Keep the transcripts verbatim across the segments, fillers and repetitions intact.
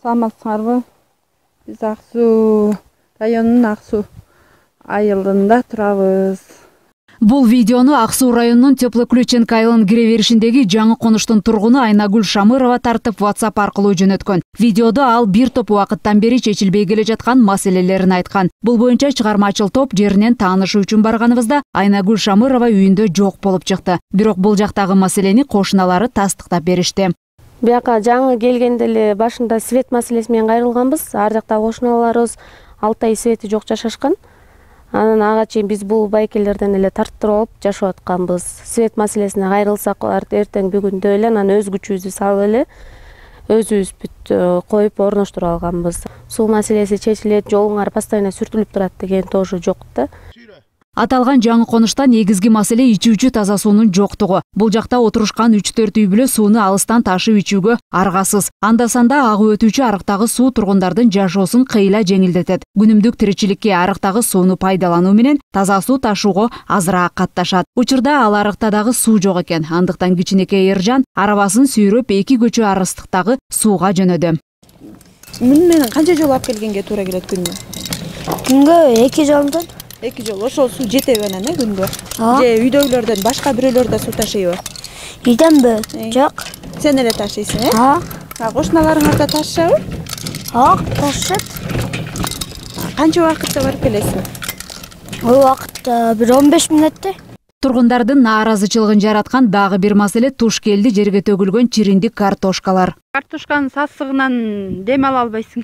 Саламатсыңарбы? Биз Ак Суу районунун Ак Суу айылында турабыз. Бул видеону Ак Суу районунун Теплоключенко айылынын кире беришиндеги жаңы конуштун тургуну Айнагүл Шамырова тартып WhatsApp аркылуу жөнөткөн. Видеодо ал бир топ убакыттан бери чечилбей келе жаткан маселелерин айткан. Бул боюнча чыгармачыл топ жеринен таанышуу үчүн барганыбызда Айнагүл Шамырова үйүндө жок болуп чыкты. Бирок бул жактагы маселени кошуналары тастыктап беришти. Бияка жаңы келгенде эле башында свет маселеси менен кайрылганбыз. Ар жакта кошуналарыбыз алты ай свети жок жашашкан. Анан ага чейин биз бул байкелерден эле тарттырып алып жашап атканбыз. Свет маселесине кайрылсак эртең бүгүндө эле анан өз күчүбүздү салып эле өзүбүз бүт коюп орноштуруп алганбыз. Суу маселеси чечилет, жолуңар постоянно сүртүлүп турат деген тоже жок да. Аталган жаңы конушта негизги маселе ичүүчү таза суунун жоктугу. Бул жакта отурушкан үч төрт үй бүлө сууну алыстан ташып ичүүгө аргасыз. Анда санда агып өтүүчү арыктагы суу тургундардын жашоосун кыйла жеңилдетет. Күнүмдүк тиричиликке арыктагы сууну пайдалануу менен таза суу ташууга азыраак катташат. Учурда ал арыкта дагы суу жок экен. Андыктан кичинекей Эржан арабасын сүйрөп эки көчө арыстыктагы сууга жөнөдү. Муну менен канча жолу алып келгенге туура келет күнгө? Күнгө эки жолдон. эки жол. Ошол суу жетеби анан э күнгө? Же үйдөгүлөрдөн башка бирөөлөр да суу ташыйбы? Үйдөнбү? Жок. Сен эле ташыйсың, э? А. А кошуналарыңар да ташышабы? А, ташышат. Канча убакытта барып келесиң? Бул убакытта бир он беш мүнөттө. Тургундардын нааразычылыгын жараткан дагы бир маселе туш келди жерге төгүлгөн чириндик картошкалар. Картошканын сасыгынан дем ала албайсың.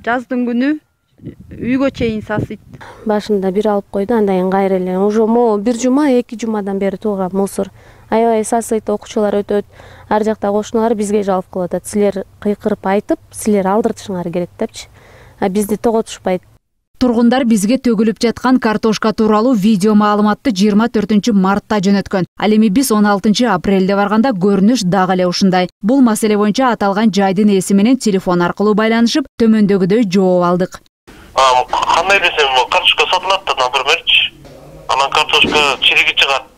Жаздын күнү үйгө чейин сасыйт. Башында бир алып койду, андан кийин кайра эле уже могу бир жума, эки жумадан бери тууган мусор. Аябай сасыйт, окуучулар өтөт. Ар жакта кошуналар бизге жалоп кылып атат. Силер кыйкырып айтып, силер алдыртышыңар керек депчи. А бизди тоготушпайт. Тургундар бизге төгүлүп жаткан картошка тууралуу видео маалыматты жыйырма төртүнчү мартта жөнөткөн. Ал эми биз он алтынчы апрелде барганда көрүнүш дагы эле ушундай. Бул маселе боюнча аталган жайдын ээси менен телефон аркылуу байланышып, төмөндөгүдөй жооп алдык. Кандай десем, картошка сатылат да, напримерчи. Анан картошка чириги чыгат.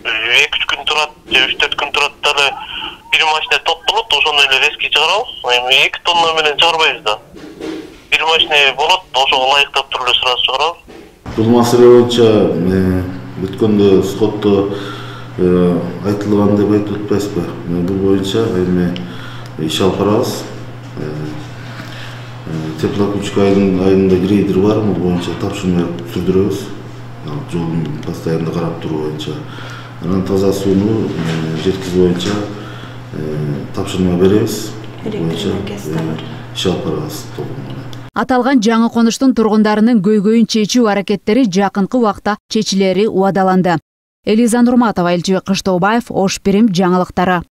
эки үч күн турат, же үч төрт күн турат да эле бир машина топтолот, ошону эле резки чыгарабыз. Эми эки тонна менен чыгарбайбыз да. Бир машина болот, ошого ылайыктап туруп эле сразу чыгарабыз. Бул маселе боюнча өткөндө сотто айтылган деп айтып атпайсызбы? Бул боюнча эми иш алып барабыз. Теплоключенко айылында грейдер бар, бул боюнча тапшырма сүрдүрөбүз. Жолун постоянно карап туруу боюнча. Анан таза сууну жеткизүү боюнча тапшырма беребиз. Боюнча иш алып барабыз. Аталган жаңы конуштун тургундарынын көйгөйүн чечүү аракеттери жакынкы убакта чечилери убадаланды. Элиза Нурматова, Элчибек Кыштообаев, Ош Бирим жаңылыктары.